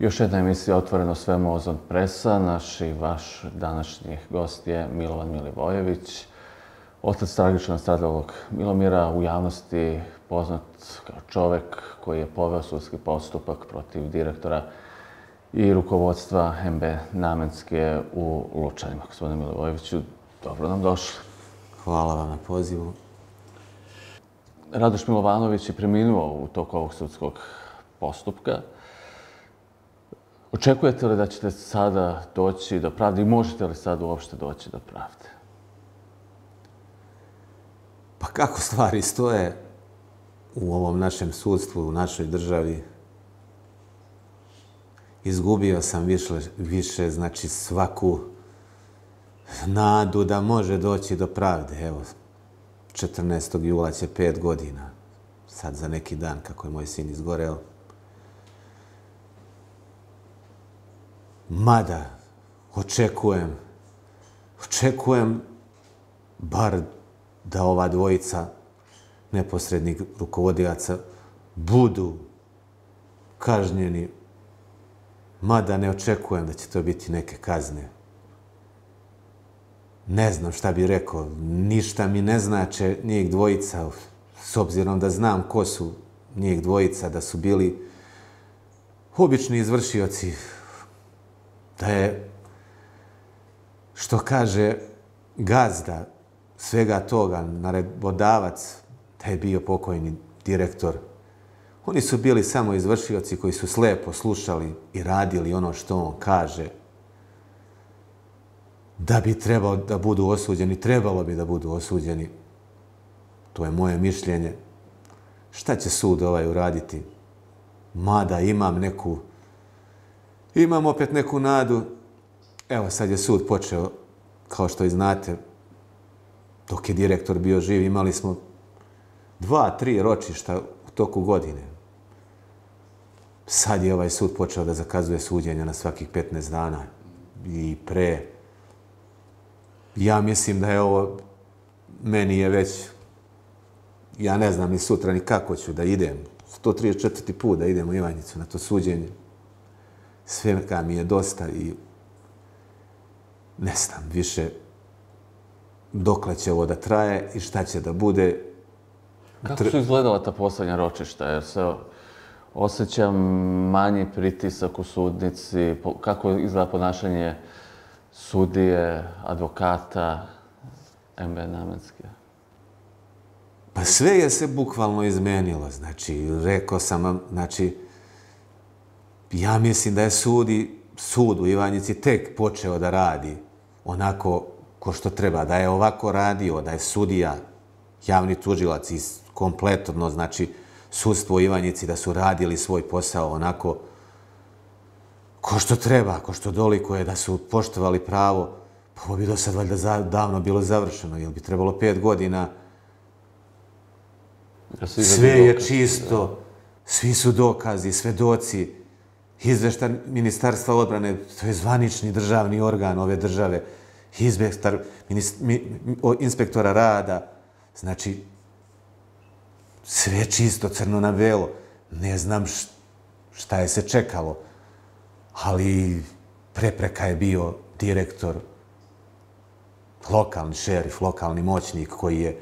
Još jedna emisija Otvoreno sve Ozon Presa. Naš i vaš današnji gost je Milovan Milivojević, otac tragično stradalog Milomira, u javnosti poznat kao čovek koji je poveo sudski postupak protiv direktora i rukovodstva MB Namenske u Lučanima. Gospodine Milivojeviću, dobro nam došli. Hvala vam na pozivu. Radoš Milovanović je preminuo u toku ovog sudskog postupka. Očekujete li da ćete sada doći do pravde i možete li sad uopšte doći do pravde? Pa kako stvari stoje u ovom našem sudstvu, u našoj državi? Izgubio sam više, znači svaku nadu da može doći do pravde. Evo, 14. jula će 5 godina. Sad za neki dan, kako je moj sin izgoreo. Mada, očekujem bar da ova dvojica neposrednih rukovodilaca budu kažnjeni, mada ne očekujem da će to biti neke kazne. Ne znam šta bi rekao, ništa mi ne znače njih dvojica, s obzirom da znam ko su njih dvojica, da su bili obični izvršioci, da je, što kaže gazda svega toga, naredbodavac, da je bio pokojni direktor. Oni su bili samo izvršioci koji su slepo slušali i radili ono što on kaže. Da bi trebalo da budu osuđeni, trebalo bi da budu osuđeni. To je moje mišljenje. Šta će sud uraditi? Mada imam opet neku nadu. Evo, sad je sud počeo, kao što i znate, dok je direktor bio živ, imali smo 2-3 ročišta u toku godine. Sad je ovaj sud počeo da zakazuje suđenja na svakih 15 dana i pre. Ja mislim da je ovo, meni je već, ja ne znam ni sutra ni kako ću da idem, 134. put da idem u Ivanjicu na to suđenje. Svega mi je dosta i ne znam više dokle će ovo da traje i šta će da bude. Kako su izgledala ta poslednja ročišta? Jer se osjeća manji pritisak u sudnici? Kako izgleda ponašanje sudije, advokata, MB Namenske? Pa sve je se bukvalno izmenilo. Znači, rekao sam vam, ja mislim da je sud u Ivanjici tek počeo da radi onako ko što treba, da je ovako radio, da je sudija, javni tužilac i kompletno, znači, sudstvo u Ivanjici, da su radili svoj posao onako ko što treba, ko što dolikuje, da su poštovali pravo, pa ovo bi do sad valjda davno bilo završeno, jer bi trebalo 5 godina. Sve je čisto, svi su dokazi, svedoci, izveštaj Ministarstva odbrane, to je zvanični državni organ ove države, inspektora rada, znači, sve je čisto, crno na belo. Ne znam šta je se čekalo, ali prepreka je bio direktor, lokalni šerif, lokalni moćnik koji je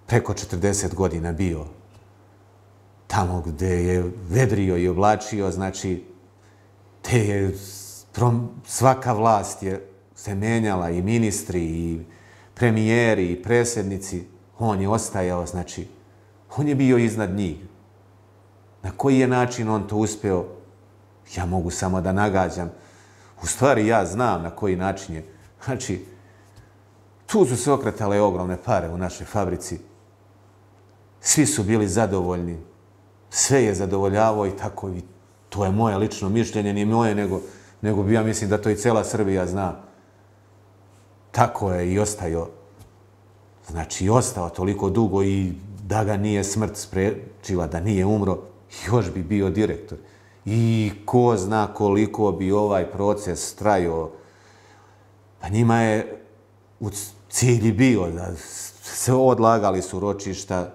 preko 40 godina bio tamo gde je vedrio i oblačio, znači, te je svaka vlast je se menjala, i ministri, i premijeri, i predsjednici, on je ostajao, znači, on je bio iznad njih. Na koji je način on to uspeo, ja mogu samo da nagađam. U stvari, ja znam na koji način je. Znači, tu su se okretale ogromne pare u našoj fabrici. Svi su bili zadovoljni. Sve je zadovoljavao i tako. I to je moje lično mišljenje, nije moje, nego ja mislim da to i cela Srbija zna. Tako je i ostajao. Znači, i ostao toliko dugo i da ga nije smrt sprečila, da nije umro, još bi bio direktor. I ko zna koliko bi ovaj proces trajao. Pa njima je u cilji bio da se odlagali su ročišta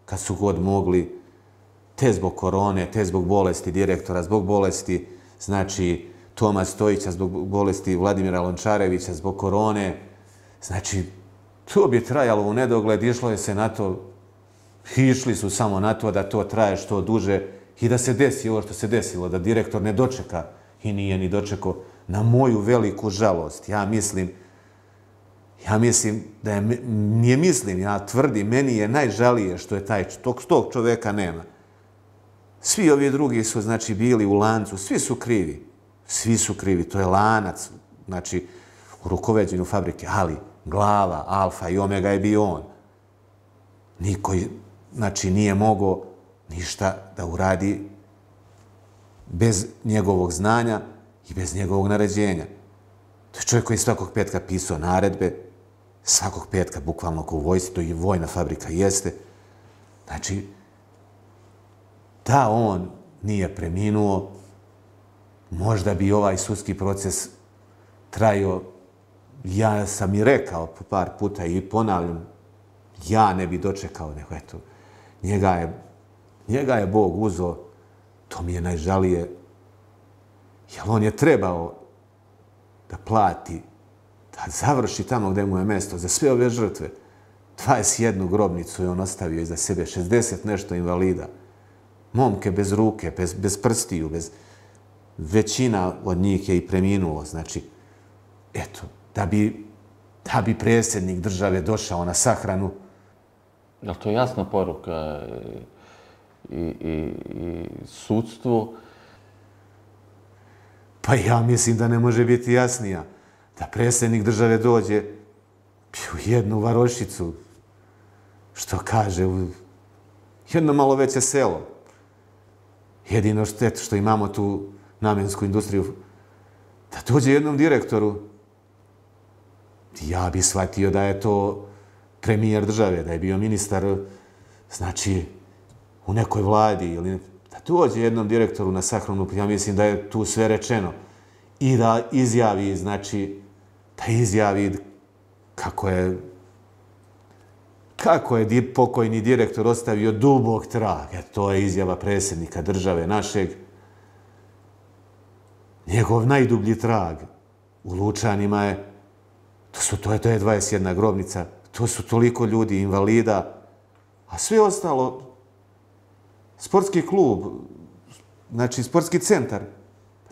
kad su god mogli, te zbog korone, te zbog bolesti direktora, zbog bolesti znači Toma Stojića zbog bolesti Vladimira Lončarevića, zbog korone. Znači, to bi trajalo u nedogled, išlo je se na to, išli su samo na to da to traje što duže i da se desi ovo što se desilo, da direktor ne dočeka i nije ni dočekao, na moju veliku žalost. Ja mislim da je, nije mislim, ja tvrdim, meni je najžalije što je tog čoveka nema. Svi ovi drugi su, znači, bili u lancu, svi su krivi, to je lanac, znači, u rukovođenju fabrike, ali glava, alfa i omega je bio on. Niko, znači, nije mogao ništa da uradi bez njegovog znanja i bez njegovog naređenja. To je čovjek koji svakog petka pisao naredbe, svakog petka, bukvalno kao u vojsci, to i vojna fabrika jeste. Znači, da on nije preminuo, možda bi ovaj sudski proces trajao, ja sam i rekao par puta i ponavljam, ja ne bi dočekao, nego eto, njega je Bog uzeo, to mi je najžalije, jer on je trebao da plati, da završi tamo gde mu je mesto za sve ove žrtve. 21 grobnicu je on ostavio iza sebe, 60 nešto invalida, momke bez ruke, bez prstiju, većina od njih je i preminulo. Znači, eto, da bi predsjednik države došao na sahranu. Je li to jasna poruka i sudstvu? Pa ja mislim da ne može biti jasnija. Da predsjednik države dođe u jednu varošicu, što kaže, u jedno malo veće selo. Jedino što imamo tu namjensku industriju, da dođe jednom direktoru, ja bi shvatio da je to premijer države, da je bio ministar, znači, u nekoj vladi, ili da dođe jednom direktoru na sahranu, ja mislim da je tu sve rečeno. I da izjavi, znači, kako je pokojni direktor ostavio dubok trag. To je izjava predsjednika države našeg. Njegov najdublji trag u Lučanima je, to je 21 grobnica, to su toliko ljudi, invalida, a sve ostalo, sportski klub, znači sportski centar,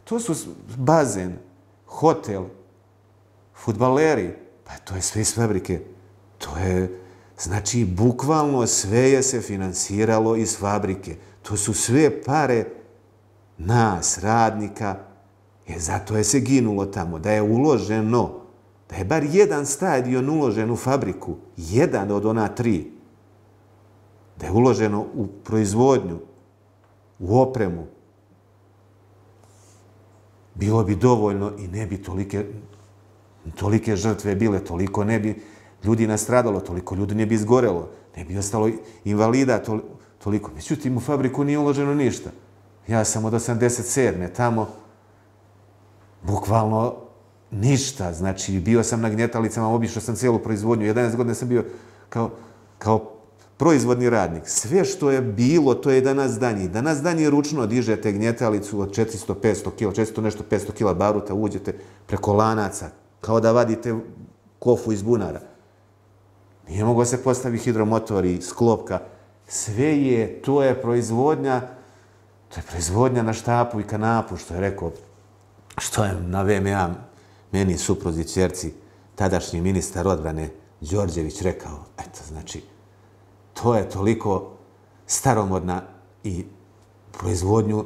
to su bazen, hotel, fudbaleri, pa to je sve iz fabrike. To je, znači, bukvalno sve je se finansiralo iz fabrike. To su sve pare nas, radnika, zato je se ginulo tamo, da je uloženo, da je bar jedan stadion uložen u fabriku, jedan od ona 3, da je uloženo u proizvodnju, u opremu, bilo bi dovoljno i ne bi tolike žrtve bile, toliko ne bi ljudi nastradalo, toliko ljudi ne bi izgorelo, ne bi ostalo invalida toliko. Međutim, u fabriku nije uloženo ništa. Ja sam od 87. tamo, bukvalno ništa. Znači, bio sam na gnjetalicama, obišao sam cijelu proizvodnju. 11 godina sam bio kao proizvodni radnik. Sve što je bilo, to je danas danji. Danas danji ručno dižete gnjetalicu od 400-500 kila, 400 nešto 500 kila baruta, uđete preko lanaca, kao da vadite kofu iz bunara. Nije moglo se postaviti hidromotor i sklopka. Sve je, to je proizvodnja na štapu i kanapu, što je rekao, što je na VMA meni supruzi ćerci, tadašnji ministar odbrane Đorđević rekao. Eto, znači, to je toliko staromodna i proizvodnju,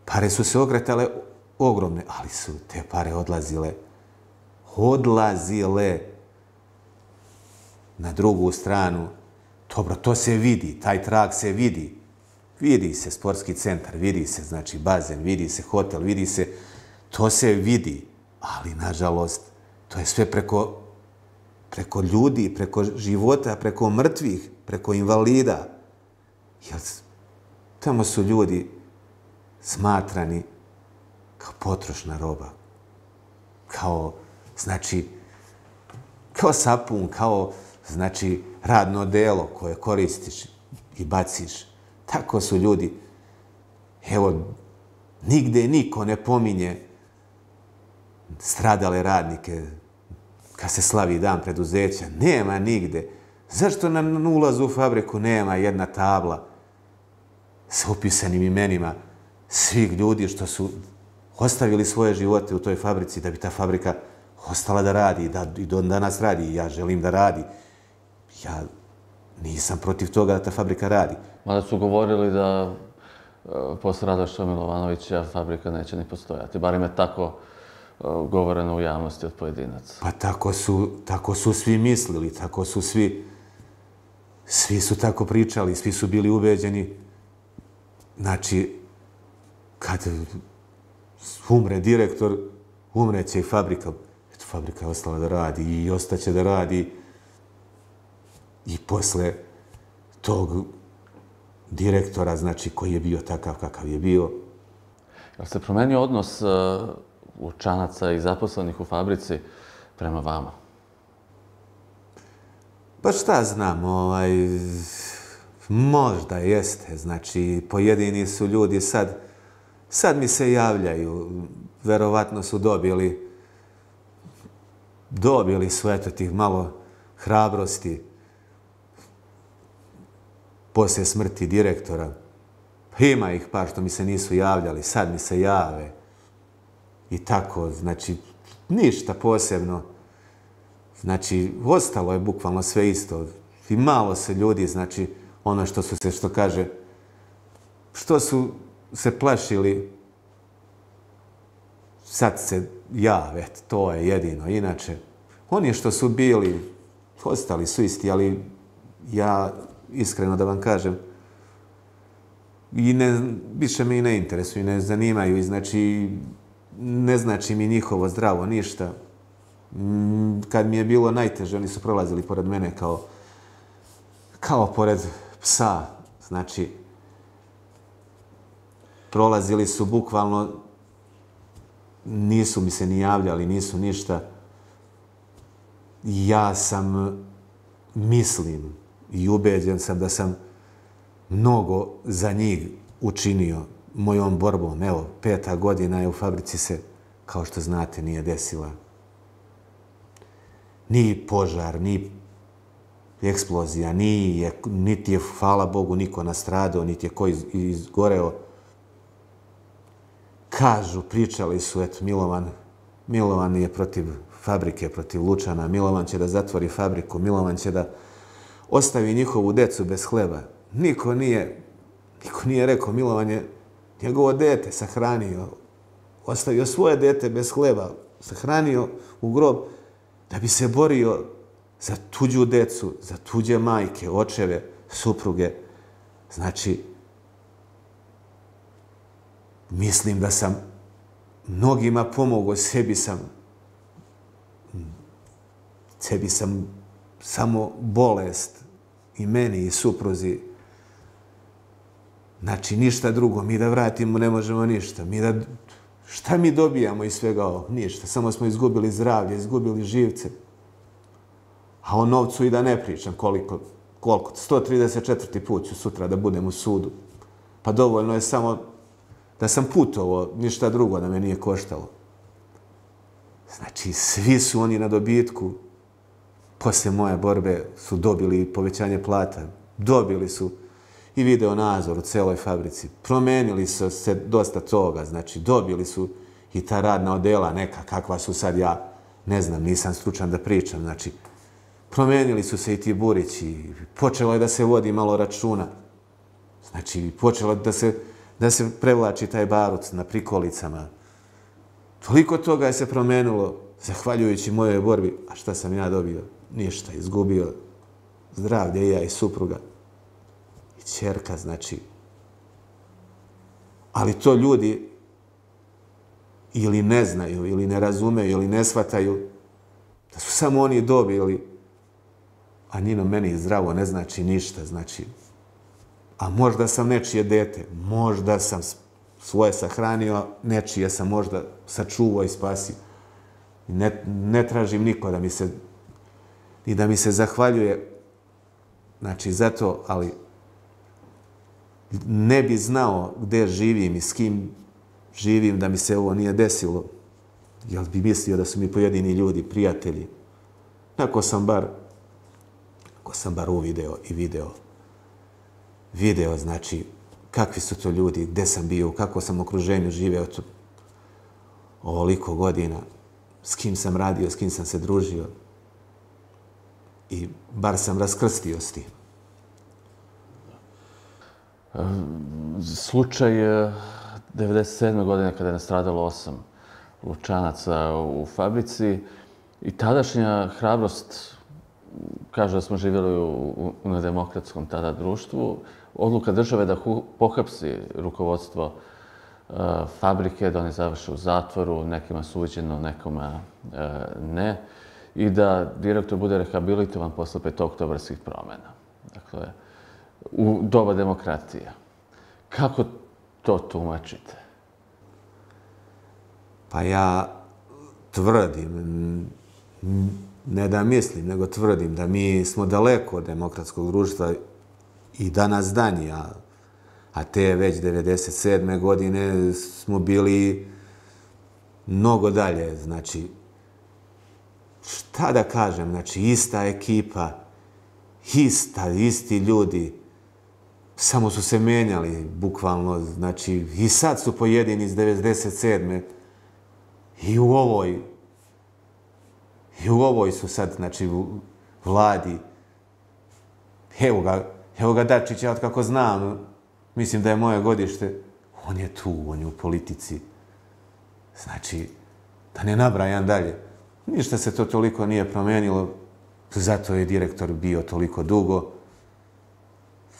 pare su se ogretale ogromne, ali su te pare odlazile na drugu stranu. Dobro, to se vidi, taj trag se vidi. Vidi se sportski centar, vidi se, znači, bazen, vidi se hotel, vidi se, to se vidi, ali, nažalost, to je sve preko ljudi, preko života, preko mrtvih, preko invalida. Jer tamo su ljudi smatrani kao potrošna roba, kao sapun, kao, znači, radno delo koje koristiš i baciš. Tako su ljudi. Evo, Nigde niko ne pominje stradale radnike kad se slavi dan preduzeća. Nema nigde. Zašto na ulazu u fabriku nema jedna tabla sa upisanim imenima svih ljudi što su ostavili svoje živote u toj fabrici da bi ta fabrika ostala da radi, da i do danas radi. Ja želim da radi. Ja nisam protiv toga da ta fabrika radi. Mada su govorili da posle Radoša Milovanovića fabrika neće ni postojati. Barem je tako govoreno u javnosti od pojedinaca. Pa tako su svi mislili, tako su svi su tako pričali, svi su bili ubeđeni. Znači, kad umre direktor, umreće i fabrika. Eto, fabrika je ostala da radi i ostaće da radi. I posle tog direktora, znači, koji je bio takav kakav je bio. Jel se promenio odnos Lučanaca i zaposlenih u fabrici prema vama? Pa šta znam, možda jeste. Znači, pojedini su ljudi sad mi se javljaju. Verovatno su dobili su eto tih malo hrabrosti poslije smrti direktora. Ima ih par što mi se nisu javljali, sad mi se jave. I tako, znači, ništa posebno. Znači, ostalo je bukvalno sve isto. I malo se ljudi, znači, ono što su se plašili, sad se jave, to je jedino. Inače, oni što su bili, ostali su isti, ali ja, iskreno da vam kažem, više me i ne interesuju, ne zanimaju i znači, ne znači mi njihovo zdravo ništa. Kad mi je bilo najteže, oni su prolazili pored mene kao pored psa. Znači, prolazili su bukvalno, nisu mi se ni javljali, nisu ništa. Ja mislim i ubeđen sam da sam mnogo za njih učinio mojom borbom. Evo, 5. godina je u fabrici se, kao što znate, nije desila ni požar, ni eksplozija, niti je, hvala Bogu, niko nastradao, niti je ko izgoreo. Kažu, pričali su, eto, Milovan je protiv fabrike, protiv Lučana, Milovan će da zatvori fabriku, Milovan će da ostavi njihovu decu bez hleba. Niko nije rekao, Milovan je njegovo dete sahranio, ostavio svoje dete bez hleba, sahranio u grob da bi se borio za tuđu decu, za tuđe majke, očeve, supruge. Znači, mislim da sam mnogima pomogao, sebi sam samo bolest i meni i supruzi. Znači, ništa drugo. Mi da vratimo ne možemo ništa. Šta mi dobijamo iz svega ovog? Ništa. Samo smo izgubili zdravlje, izgubili živce. A o novcu i da ne pričam koliko. 134. put ću sutra da budem u sudu. Pa dovoljno je samo da sam putovao, ništa drugo da me nije koštalo. Znači, svi su oni na dobitku. Posle moje borbe su dobili povećanje plata. Dobili su i video nadzor u celoj fabrici. Promenili su se dosta toga. Znači, dobili su i ta radna odela neka, kakva su sad, ja ne znam, nisam stručan da pričam. Znači, promenili su se i ti burići. Počelo je da se vodi malo računa. Znači, počelo da se prevlači taj baruc na prikolicama. Toliko toga je se promenilo, zahvaljujući mojoj borbi. A šta sam ja dobio? Ništa. Izgubio zdravlje, ja i supruga. I ćerka, znači. Ali to ljudi ili ne znaju, ili ne razumeju, ili ne shvataju da su samo oni dobili, a njino meni zdravo ne znači ništa. Znači, a možda sam nečije dete, možda sam svoje sahranio, nečije sam možda sačuvao i spasio. Ne tražim niko da mi se zahvaljuje. Znači, zato, ali ne bi znao gde živim i s kim živim da mi se ovo nije desilo, jer bi mislio da su mi pojedini ljudi prijatelji. Ako sam bar uvideo i video, znači, kakvi su to ljudi, gde sam bio, u kakvom sam okruženju živeo ovoliko godina, s kim sam radio, s kim sam se družio. I bar sam raskrstio s tim. Slučaj 1997. godine kada je nastradalo 8 Lučanaca u fabrici i tadašnja hrabrost, kaže da smo živjeli u nedemokratskom tada društvu, odluka države da pohapsi rukovodstvo fabrike, da oni završe u zatvoru, nekima suđeno, nekoma ne, i da direktor bude rehabilitovan posle petooktobarskih promjena. Dakle, u doba demokratije. Kako to tumačite? Pa ja tvrdim, ne da mislim, nego tvrdim da mi smo daleko od demokratskog društva i danas danji, a te već 1997. godine smo bili mnogo dalje. Znači, šta da kažem, znači ista ekipa, isti ljudi, samo su se menjali, bukvalno, znači i sad su pojedini iz 1997. I u ovoj su sad, znači, vladi. Evo ga Dačića, od kako znam, mislim da je moje godište, on je tu, on je u politici. Znači, da ne nabrajam dalje. Ništa se to toliko nije promenilo, zato je direktor bio toliko dugo.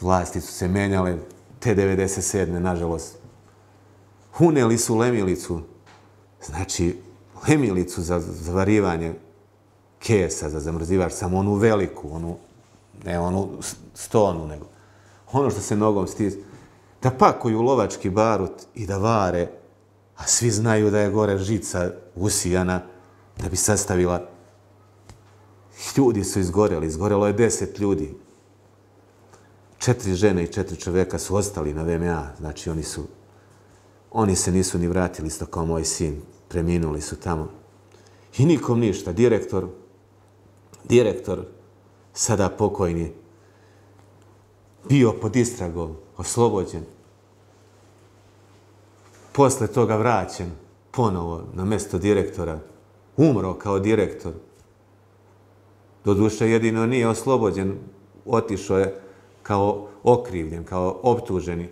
Vlasti su se menjale, te 1997. nažalost. Uneli su Lemilicu, znači Lemilicu za zavarivanje kesa, za zamrzivač, samo onu veliku, ne onu stonu, nego ono što se nogom stisne. Da pakuju lovački barut i da vare, a svi znaju da je gore žica usijana da bi sastavila. Ljudi su izgorelo je 10 ljudi. 4 žene i 4 čoveka su ostali na VMA, znači oni se nisu ni vratili, isto kao moj sin, preminuli su tamo. I nikom ništa, direktor, sada pokojni, bio pod istragom, oslobođen. Posle toga vraćen ponovo na mesto direktora, umro kao direktor. Doduše jedino nije oslobođen, otišao je kao okrivljen, kao optuženi,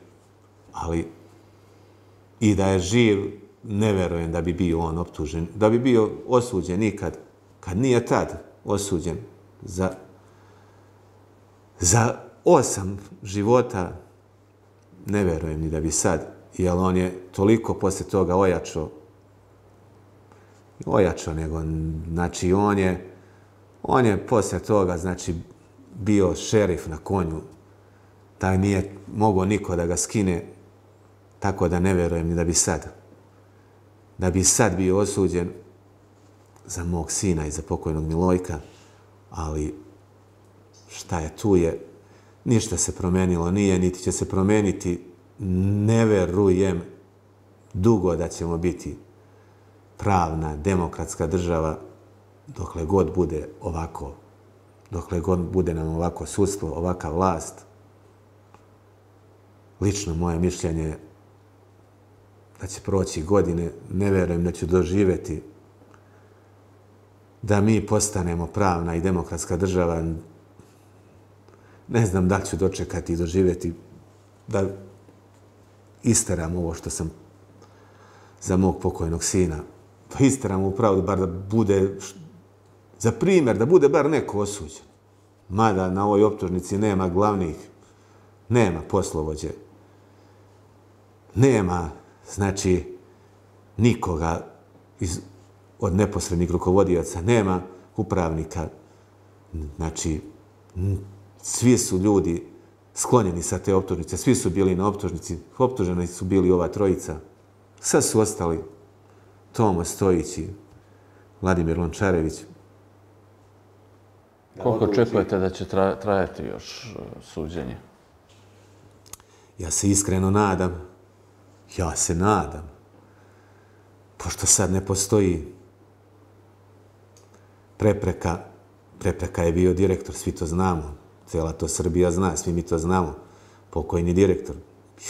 ali i da je živ, ne verujem da bi bio on optužen, da bi bio osuđen ikad, kad nije tad osuđen za 8 života, ne verujem ni da bi sad, jer on je toliko poslije toga ojačao nego, znači on je poslije toga, znači, bio šerif na konju, taj nije mogao niko da ga skine, tako da ne verujem ni da bi sad bio osuđen za mog sina i za pokojnog Milojka, ali šta je tu je, ništa se promenilo nije, niti će se promeniti, ne verujem dugo da ćemo biti pravna, demokratska država dokle god bude ovako, dokle god bude nam ovako sudstvo, ovaka vlast. Lično moje mišljenje je da će proći godine, ne verujem da ću doživjeti da mi postanemo pravna i demokratska država. Ne znam da li ću dočekati i doživjeti da isteram ovo što sam za mog pokojnog sina. Pa isteram u pravdu, bar da bude, za primjer, da bude bar neko osuđen. Mada na ovoj optužnici nema glavnih, nema poslovođe, nema, znači, nikoga od neposrednih rukovodioca, nema upravnika. Znači, svi su ljudi sklonjeni sa te optužnice, svi su bili na optužnici, optuženi su bili ova trojica. Sad su ostali Tomo Stojić i Vladimir Lončarević. Koliko očekujete da će trajati još suđenje? Ja se iskreno nadam, pošto sad ne postoji prepreka je bio direktor, svi to znamo, cijela to Srbija zna, svi mi to znamo, pokojni direktor.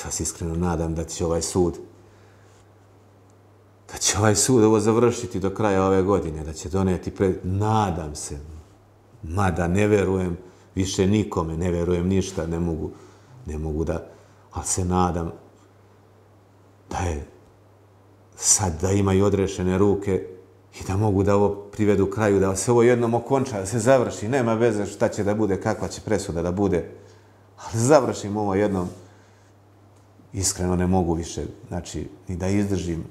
Ja se iskreno nadam da će ovaj sud ovo završiti do kraja ove godine, da će doneti nadam se, mada ne verujem više nikome, ne verujem ništa, ne mogu da, ali se nadam da je sad da imaju odrešene ruke i da mogu da ovo privedu kraju, da se ovo jednom okonča, da se završi, nema veze šta će da bude, kakva će presuda da bude, ali završimo ovo jednom. Iskreno ne mogu više, znači, ni da izdržim,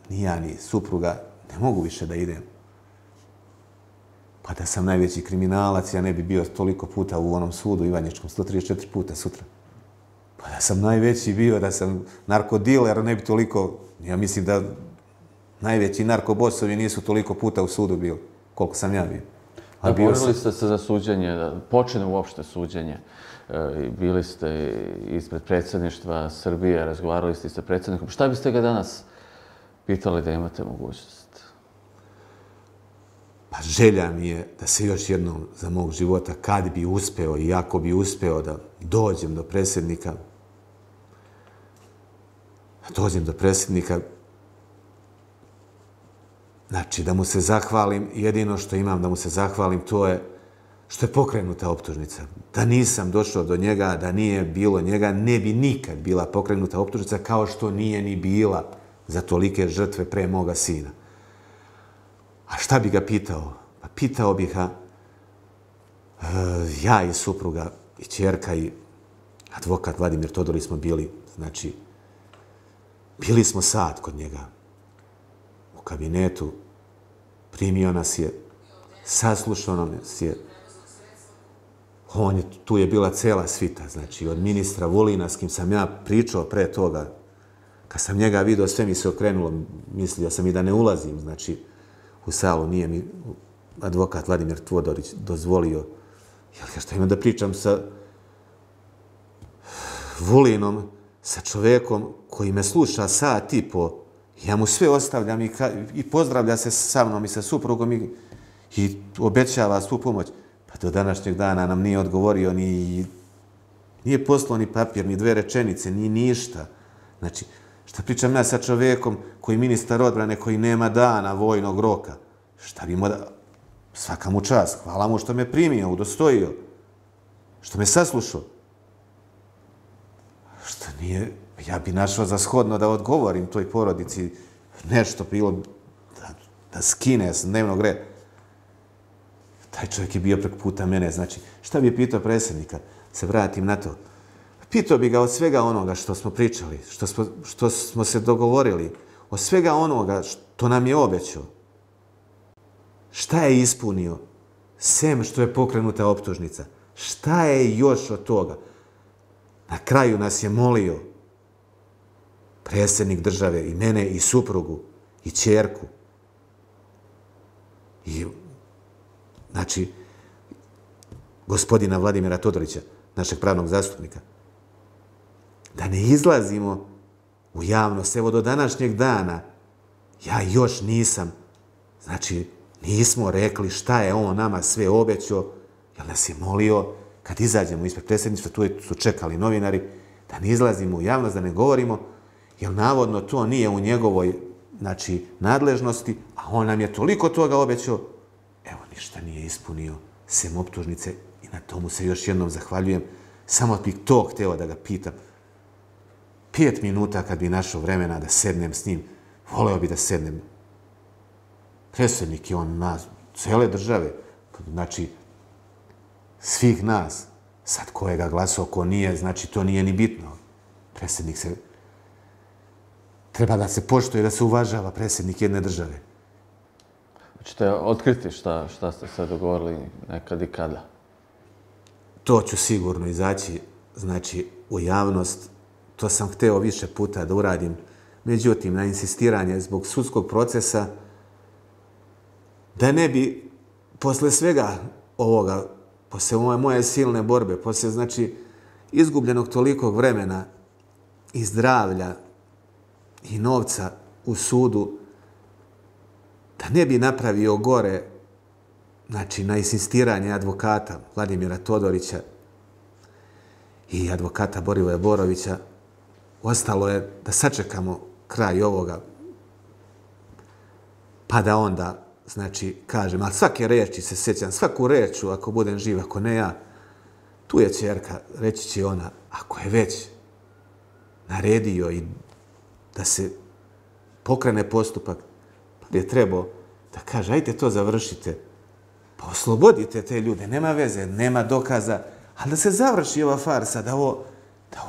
ni ja, ni supruga, ne mogu više da idem. Pa da sam najveći kriminalac, ja ne bi bio toliko puta u onom sudu Ivanjičkom, 134 puta sutra. Pa da sam najveći bio, da sam narkodiler, ne bi toliko, ja mislim da najveći narkobosovi nisu toliko puta u sudu bili, koliko sam ja bio. A borili ste se za suđenje, da počne uopšte suđenje. Bili ste ispred predsjedništva Srbije, razgovarali ste sa predsjednikom. Šta biste ga danas pitali da imate mogućnost? Pa želja mi je da se još jednom za mog života, kad bi uspeo i ako bi uspeo da dođem do predsjednika, znači da mu se zahvalim, jedino što imam da mu se zahvalim, to je što je pokrenuta optužnica. Da nisam došao do njega, da nije bilo njega, ne bi nikad bila pokrenuta optužnica, kao što nije ni bila za tolike žrtve pre moga sina. A šta bi ga pitao? Pa pitao bih ga, ja i supruga i ćerka i advokat Vladimir Todorić smo bili, znači, bili smo sat kod njega u kabinetu, primio nas je, saslušao nas je, tu je bila cela svita, znači od ministra Vulina s kim sam ja pričao pre toga, kad sam njega vidio, sve mi se okrenulo, mislio sam i da ne ulazim, znači u salu, nije mi advokat Vladimir Todorić dozvolio, jer što imam da pričam sa Vulinom, sa čovekom koji me sluša sat i po, ja mu sve ostavljam i pozdravlja se sa mnom i sa suprugom i obećava svu pomoć. Pa do današnjeg dana nam nije odgovorio nije poslao ni papir, ni 2 rečenice, ni ništa. Znači, šta pričam ja sa čovekom koji ministar odbrane, koji nema dana vojnog roka? Šta bi mu da... Svaka mu čast, hvala mu što me primio, udostojio, što me saslušao. Što nije... Ja bi našao za shodno da odgovorim toj porodici nešto bilo da skine s dnevnog reda. Taj čovjek je bio preko puta mene, znači, šta bi je pitao predsjednika? Se vratim na to. Pitao bi ga od svega onoga što smo pričali, što smo se dogovorili, od svega onoga što nam je obećao. Šta je ispunio? Sem što je pokrenuta optužnica. Šta je još od toga? Na kraju nas je molio predsjednik države i mene i suprugu i ćerku. I, znači, gospodina Vladimira Todorića, našeg pravnog zastupnika, da ne izlazimo u javnost. Evo do današnjeg dana ja još nisam, znači, nismo rekli šta je on nama sve obećao, jer nas je molio kad izađemo ispred predsjedništva, tu su čekali novinari, da ne izlazimo u javnost, da ne govorimo, jer navodno to nije u njegovoj, znači, nadležnosti, a on nam je toliko toga obećao, evo, ništa nije ispunio, sem optužnice, i na tomu se još jednom zahvaljujem. Samo bih to hteo da ga pitam. 5 minuta kad bi našao vremena da sednem s njim, voleo bi da sednem. Predsjednik je on nas, cele države, znači, svih nas, sad ko je ga glasao, ko nije, znači to nije ni bitno. Predsjednik se, treba da se poštuje, da se uvažava predsjednik jedne države. Hoćete otkriti šta ste se dogovorili nekad i kada? To ću sigurno izaći, znači, u javnost. To sam hteo više puta da uradim. Međutim, na insistiranje zbog sudskog procesa, da ne bi posle svega ovoga, posle moje silne borbe, posle, znači, izgubljenog tolikog vremena i zdravlja i novca u sudu, da ne bi napravio gore, znači na insistiranje advokata Vladimira Todorića i advokata Borivoja Borovića, ostalo je da sačekamo kraj ovoga, pa da onda, znači, kažem, ali svake reči se sjećam, svaku reču, ako budem živ, ako ne ja, tu je ćerka, reći će ona, ako je već naredio i da se pokrene postupak, pa je trebao da kaže, ajte to završite, pa oslobodite te ljude, nema veze, nema dokaza, ali da se završi ova farsa, da ovo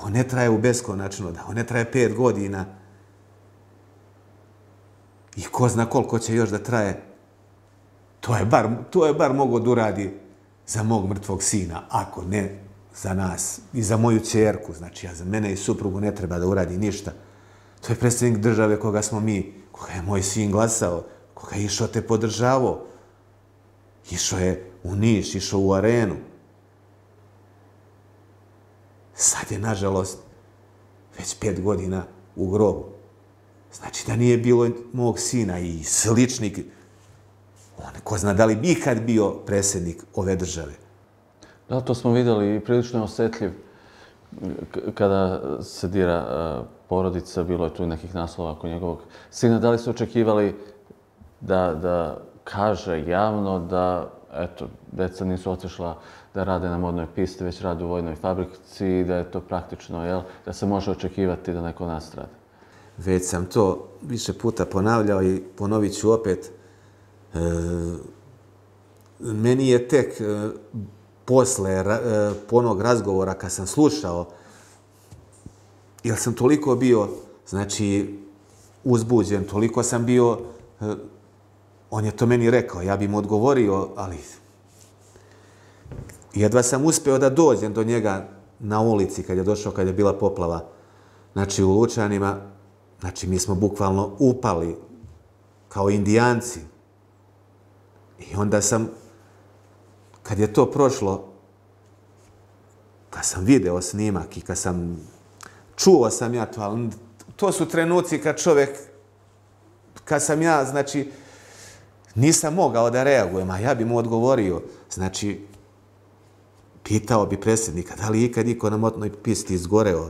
ne traje u beskonačno, da ovo ne traje 5 godina i ko zna koliko će još da traje. To je bar mogao da uradi za mog mrtvog sina, ako ne za nas i za moju ćerku. Znači, ja za mene i suprugu ne treba da uradi ništa. To je predsjednik države koga smo mi, koga je moj sin glasao, koga je išao te podržavao. Išao je u Niš, išao u Arenu. Sad je, nažalost, već 5 godina u grobu. Znači da nije bilo mog sina i sličnik, on ko zna da li bi ikad bio predsjednik ove države. Da, to smo vidjeli i prilično je osjetljiv kada se dira porodica, bilo je tu nekih naslova oko njegovog sina. Da li su očekivali da kaže javno da, eto, deca nisu otišla da rade na modnoj pisti, već rade u vojnoj fabrici i da je to praktično, jel, da se može očekivati da neko nastrada? Već sam to više puta ponavljao i ponovit ću opet. Meni je tek posle onog razgovora kad sam slušao, jer sam toliko bio, znači, uzbuđen, toliko sam bio, on je to meni rekao, ja bi mu odgovorio, ali jedva sam uspeo da dođem do njega na ulici kad je došao, kad je bila poplava, znači u Lučanima. Znači, mi smo bukvalno upali kao Indijanci. I onda sam, kad je to prošlo, kad sam video snimak i čuo sam ja to, ali to su trenuci kad sam ja, znači, nisam mogao da reagujem, a ja bi mu odgovorio. Znači, pitao bi predsjednika, da li ikad niko na modnoj pisti izgoreo?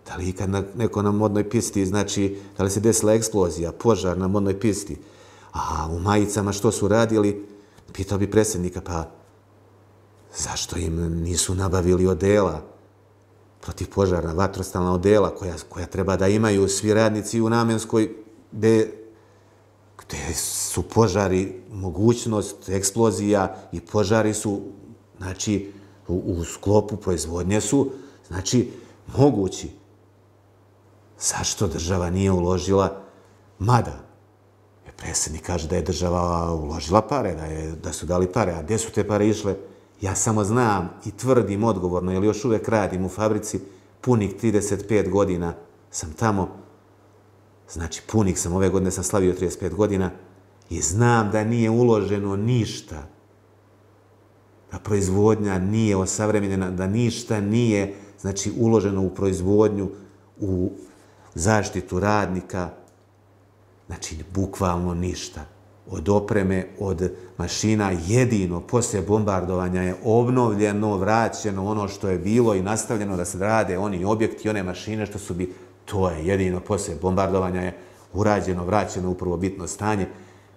Da li ikad neko na modnoj pisti, znači, da li se desila eksplozija, požar na modnoj pisti? A u Majicama što su radili? Pitao bi predsjednika, pa zašto im nisu nabavili odela protivpožarna, vatrostalna odela koja treba da imaju svi radnici u Namenskoj, gde su požari, mogućnost eksplozija i požari su, znači, u sklopu proizvodnje su, znači, mogući. Zašto država nije uložila, mada predsjednik kaže da je država uložila pare, da su dali pare, a gdje su te pare išle? Ja samo znam i tvrdim odgovorno, jer još uvek radim u fabrici, punih 35 godina sam tamo, znači punih sam, ove godine sam slavio 35 godina i znam da nije uloženo ništa, da proizvodnja nije osavremenjena, da ništa nije, znači, uloženo u proizvodnju, u zaštitu radnika, znači, bukvalno ništa. Od opreme, od mašina, jedino poslije bombardovanja je obnovljeno, vraćeno ono što je bilo i nastavljeno da se rade oni objekti, one mašine što su bi, to je jedino poslije bombardovanja je urađeno, vraćeno u prvobitno stanje.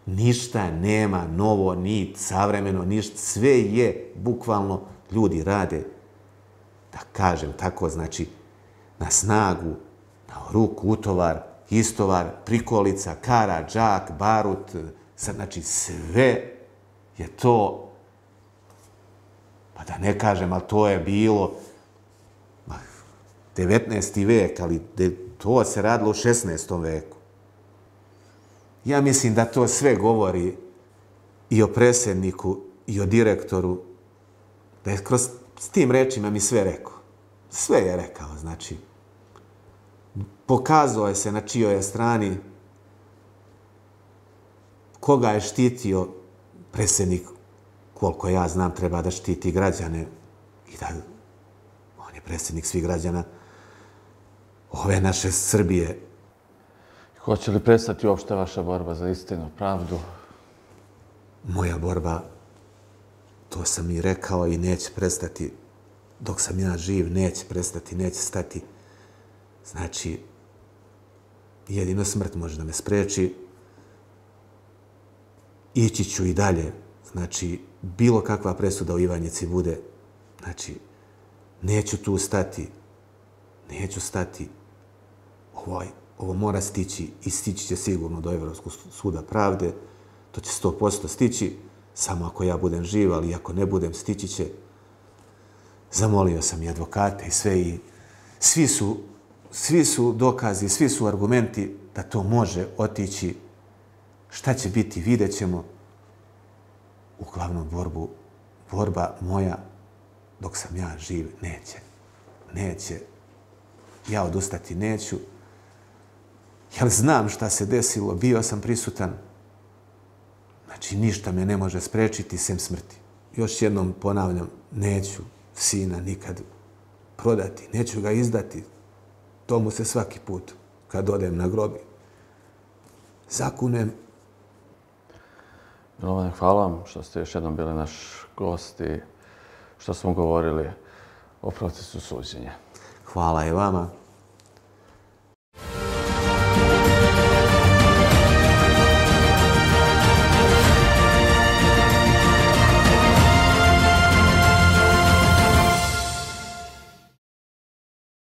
Ništa nema novo, ni savremeno, ništa, sve je, bukvalno, ljudi rade, da kažem tako, znači, na snagu, na ruku, utovar, istovar, prikolica, kara, džak, barut, znači sve je to, pa da ne kažem, ali to je bilo 19. vek, ali to se radilo u 16. veku. Ja mislim da to sve govori i o predsjedniku i o direktoru, da je kroz s tim rečima mi sve rekao. Sve je rekao, znači. Pokazao je se na čijoj je strani, koga je štitio predsjednik, koliko ja znam, treba da štiti građane i da on je predsjednik svih građana ove naše Srbije. Hoće li prestati uopšte vaša borba za istinu, pravdu? Moja borba, to sam i rekao, i neće prestati. Dok sam ja živ, neće prestati, neće stati. Znači, jedino smrt može da me spreči. Ići ću i dalje. Znači, bilo kakva presuda u Ivanjici bude. Znači, neću tu stati. Neću stati. Ovo mora stići i stići će sigurno do Evropskog suda pravde. To će 100% stići, samo ako ja budem živ, ali ako ne budem, stići će. Zamolio sam i advokate i sve, i svi su dokazi, svi su argumenti da to može otići. Šta će biti, vidjet ćemo. Uglavnom, borba moja, dok sam ja živ, neće. Ja odustati neću. Jer znam šta se desilo, bio sam prisutan. Znači, ništa me ne može sprečiti sem smrti. Još jednom ponavljam, neću sina nikad prodati, neću ga izdati. To mu se svaki put, kad odem na grobi, zakunem. Milovane, hvala vam što ste još jednom bili naš gost i što smo govorili o procesu suđenja. Hvala i vama.